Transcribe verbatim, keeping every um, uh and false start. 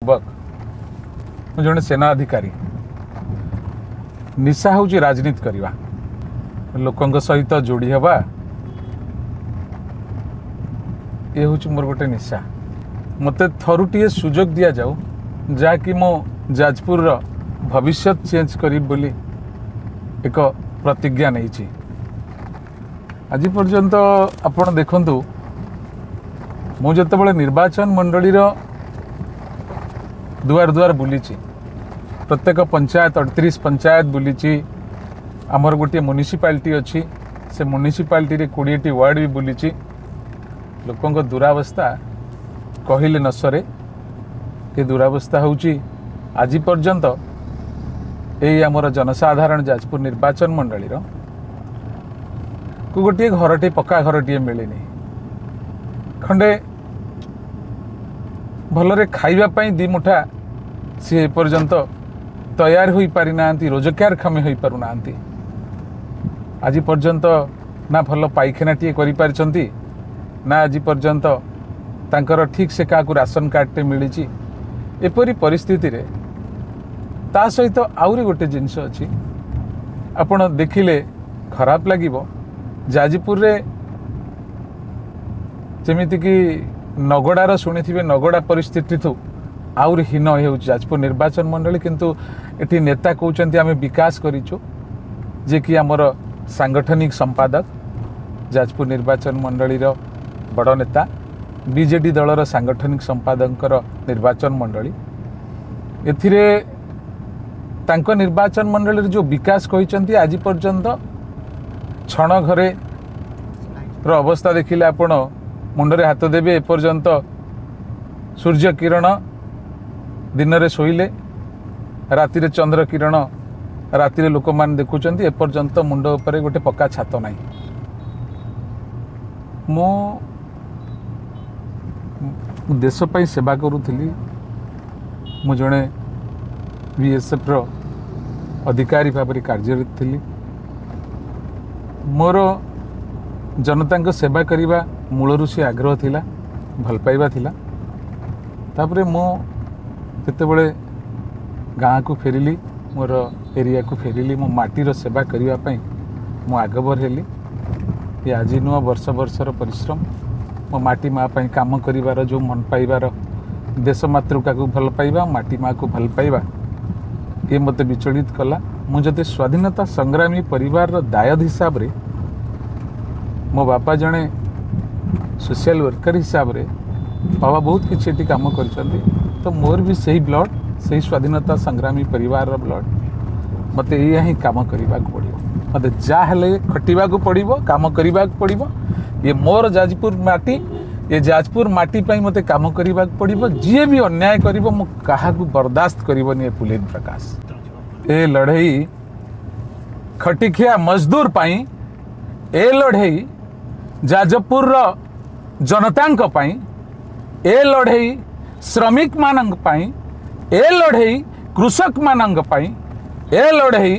ଯୁବକ, ମୁଁ ଜଣେ ସେନା ଅଧିକାରୀ। ନିଶା ହେଉଛି ରାଜନୀତି କରିବା, ଲୋକଙ୍କ ସହିତ ଯୋଡ଼ି ହେବା, ଏ ହେଉଛି ମୋର ଗୋଟେ ନିଶା। ମୋତେ ଥରୁଟିଏ ସୁଯୋଗ ଦିଆଯାଉ, ଯାହାକି ମୁଁ ଯାଜପୁରର ଭବିଷ୍ୟତ ଚେଞ୍ଜ କରିବି ବୋଲି ଏକ ପ୍ରତିଜ୍ଞା ନେଇଛି। ଆଜି ପର୍ଯ୍ୟନ୍ତ ଆପଣ ଦେଖନ୍ତୁ, ମୁଁ ଯେତେବେଳେ ନିର୍ବାଚନ ମଣ୍ଡଳୀର ଦୁଆର ଦୁଆର ବୁଲିଛି, ପ୍ରତ୍ୟେକ ପଞ୍ଚାୟତ, ଅଠତିରିଶ ପଞ୍ଚାୟତ ବୁଲିଛି। ଆମର ଗୋଟିଏ ମ୍ୟୁନିସିପାଲିଟି ଅଛି, ସେ ମ୍ୟୁନିସିପାଲିଟିରେ କୋଡ଼ିଏଟି ୱାର୍ଡ଼ ବି ବୁଲିଛି। ଲୋକଙ୍କ ଦୁରାବସ୍ଥା କହିଲେ ନ ସରେ। ଏ ଦୁରାବସ୍ଥା ହେଉଛି, ଆଜି ପର୍ଯ୍ୟନ୍ତ ଏଇ ଆମର ଜନସାଧାରଣ ଯାଜପୁର ନିର୍ବାଚନ ମଣ୍ଡଳୀର କୁ ଗୋଟିଏ ଘରଟିଏ, ପକ୍କା ଘରଟିଏ ମିଳିନି। ଖଣ୍ଡେ ଭଲରେ ଖାଇବା ପାଇଁ ଦୁଇ ମୁଠା ସିଏ ଏପର୍ଯ୍ୟନ୍ତ ତୟାର ହୋଇପାରିନାହାନ୍ତି, ରୋଜଗାରକ୍ଷମ ହୋଇପାରୁନାହାନ୍ତି। ଆଜି ପର୍ଯ୍ୟନ୍ତ ନା ଭଲ ପାଇଖାନାଟିଏ କରିପାରିଛନ୍ତି, ନା ଆଜି ପର୍ଯ୍ୟନ୍ତ ତାଙ୍କର ଠିକ୍ ସେ କାହାକୁ ରାସନ କାର୍ଡ଼ଟେ ମିଳିଛି। ଏପରି ପରିସ୍ଥିତିରେ ତା ସହିତ ଆହୁରି ଗୋଟେ ଜିନିଷ ଅଛି, ଆପଣ ଦେଖିଲେ ଖରାପ ଲାଗିବ। ଯାଜପୁରରେ ଯେମିତିକି ନଗଡ଼ାର ଶୁଣିଥିବେ, ନଗଡ଼ା ପରିସ୍ଥିତିଠୁ ଆହୁରି ହୀନ ହେଉଛି ଯାଜପୁର ନିର୍ବାଚନ ମଣ୍ଡଳୀ। କିନ୍ତୁ ଏଠି ନେତା କହୁଛନ୍ତି ଆମେ ବିକାଶ କରିଛୁ। ଯିଏକି ଆମର ସାଙ୍ଗଠନିକ ସମ୍ପାଦକ, ଯାଜପୁର ନିର୍ବାଚନ ମଣ୍ଡଳୀର ବଡ଼ ନେତା, ବିଜେଡି ଦଳର ସାଙ୍ଗଠନିକ ସମ୍ପାଦକଙ୍କର ନିର୍ବାଚନ ମଣ୍ଡଳୀ, ଏଥିରେ ତାଙ୍କ ନିର୍ବାଚନ ମଣ୍ଡଳୀରେ ଯେଉଁ ବିକାଶ କହିଛନ୍ତି, ଆଜି ପର୍ଯ୍ୟନ୍ତ ଛଣ ଘରେ ର ଅବସ୍ଥା ଦେଖିଲେ ଆପଣ ମୁଣ୍ଡରେ ହାତ ଦେବେ। ଏପର୍ଯ୍ୟନ୍ତ ସୂର୍ଯ୍ୟ କିରଣ ଦିନରେ ଶୋଇଲେ, ରାତିରେ ଚନ୍ଦ୍ର କିରଣ ରାତିରେ ଲୋକମାନେ ଦେଖୁଛନ୍ତି। ଏପର୍ଯ୍ୟନ୍ତ ମୁଣ୍ଡ ଉପରେ ଗୋଟେ ପକ୍କା ଛାତ ନାହିଁ। ମୁଁ ଦେଶ ପାଇଁ ସେବା କରୁଥିଲି। ମୁଁ ଜଣେ ବିଏସ୍ଏଫ୍ର ଅଧିକାରୀ ଭାବରେ କାର୍ଯ୍ୟରତ ଥିଲି। ମୋର ଜନତାଙ୍କ ସେବା କରିବା ମୂଳରୁ ସେ ଆଗ୍ରହ ଥିଲା, ଭଲ ପାଇବା ଥିଲା। ତାପରେ ମୁଁ ଯେତେବେଳେ ଗାଁକୁ ଫେରିଲି, ମୋର ଏରିଆକୁ ଫେରିଲି, ମୋ ମାଟିର ସେବା କରିବା ପାଇଁ ମୁଁ ଆଗଭର ହେଲି। ଏ ଆଜି ନୁହଁ, ବର୍ଷ ବର୍ଷର ପରିଶ୍ରମ। ମୋ ମାଟି ମା ପାଇଁ କାମ କରିବାର ଯେଉଁ ମନ ପାଇବାର, ଦେଶ ମାତୃକାକୁ ଭଲ ପାଇବା, ମାଟି ମାଆକୁ ଭଲ ପାଇବା, ଇଏ ମୋତେ ବିଚଳିତ କଲା। ମୁଁ ଯଦି ସ୍ୱାଧୀନତା ସଂଗ୍ରାମୀ ପରିବାରର ଦାୟଦ ହିସାବରେ, ମୋ ବାପା ଜଣେ ସୋସିଆଲ ୱାର୍କର ହିସାବରେ, ବାବା ବହୁତ କିଛି ଏଠି କାମ କରିଛନ୍ତି, ତ ମୋର ବି ସେଇ ବ୍ଲଡ଼, ସେଇ ସ୍ୱାଧୀନତା ସଂଗ୍ରାମୀ ପରିବାରର ବ୍ଲଡ଼। ମୋତେ ଏଇଆ ହିଁ କାମ କରିବାକୁ ପଡ଼ିବ। ମୋତେ ଯାହା ହେଲେ ଖଟିବାକୁ ପଡ଼ିବ, କାମ କରିବାକୁ ପଡ଼ିବ। ଇଏ ମୋର ଯାଜପୁର ମାଟି, ଏ ଯାଜପୁର ମାଟି ପାଇଁ ମୋତେ କାମ କରିବାକୁ ପଡ଼ିବ। ଯିଏ ବି ଅନ୍ୟାୟ କରିବ, ମୁଁ କାହାକୁ ବରଦାସ୍ତ କରିବନି। ଏ ପୁଲିନ ପ୍ରକାଶ, ଏ ଲଢ଼େଇ ଖଟିଖିଆ ମଜଦୁର ପାଇଁ, ଏ ଲଢ଼େଇ ଯାଜପୁରର ଜନତାଙ୍କ ପାଇଁ, ଏ ଲଢ଼େଇ ଶ୍ରମିକମାନଙ୍କ ପାଇଁ, ଏ ଲଢ଼େଇ କୃଷକମାନଙ୍କ ପାଇଁ, ଏ ଲଢ଼େଇ